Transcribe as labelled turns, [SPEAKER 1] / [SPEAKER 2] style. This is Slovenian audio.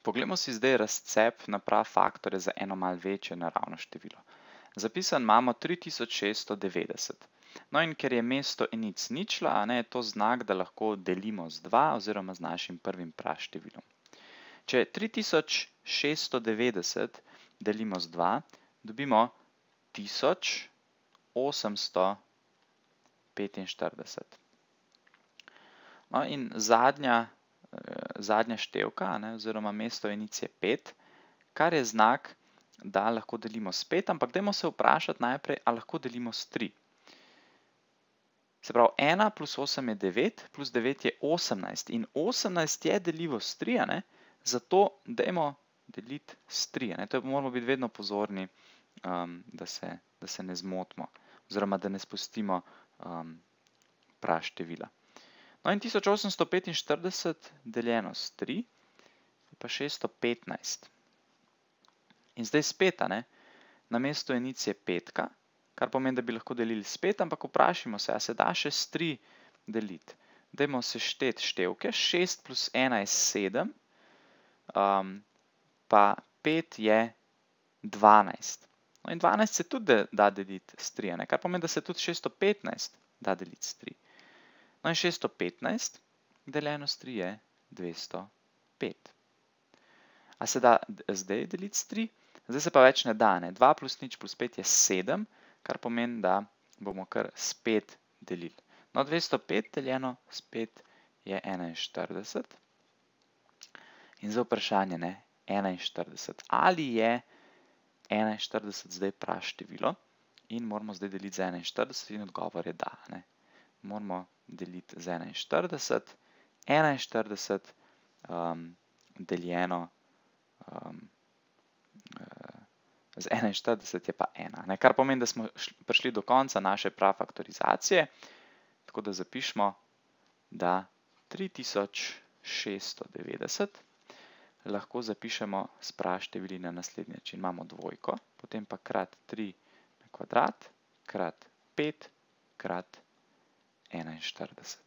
[SPEAKER 1] Poglejmo si zdaj razcep naprav faktorja za eno malo večje naravno število. Zapisan imamo 3690. No in ker je mesto enic ničla, je to znak, da lahko delimo z 2 oziroma z našim prvim praštevilom. Če 3690 delimo z 2, dobimo 1845. No in zadnja števka, oziroma mesto enic je 5, kar je znak, da lahko delimo s 5, ampak dajmo se vprašati najprej, ali lahko delimo s 3. Se pravi, 1 plus 8 je 9, plus 9 je 18 in 18 je deljivo s 3, zato dajmo deliti s 3. To moramo biti vedno pozorni, da se ne zmotimo, oziroma da ne spustimo praštevila. No in 1845 deljeno s 3 je pa 615. In zdaj spet, na mesto enic je 5, kar pomeni, da bi lahko delili s 5, ampak vprašajmo se, a se da še s 3 deliti. Dajmo sešteti števke, 6 plus 1 je 7, pa 5 je 12. No in 12 se tudi da deliti s 3, kar pomeni, da se tudi 615 da deliti s 3. No in 615 deljeno s 3 je 205. A se da zdaj deliti s 3? Zdaj se pa več ne da. 2 plus nič plus 5 je 7, kar pomeni, da bomo kar s 5 delili. No, 205 deljeno s 5 je 41. In zdaj vprašanje, 41. Ali je 41 zdaj praštevilo? In moramo zdaj deliti z 41 in odgovor je da. Moramo deliti z 41. 41 deljeno z 41 je pa 1. Kar pomeni, da smo prišli do konca naše prafaktorizacije. Tako da zapišemo, da 3690 lahko zapišemo s praštevili na naslednji način. Imamo dvojko, potem pa krat 3 na kvadrat, krat 5 krat 41.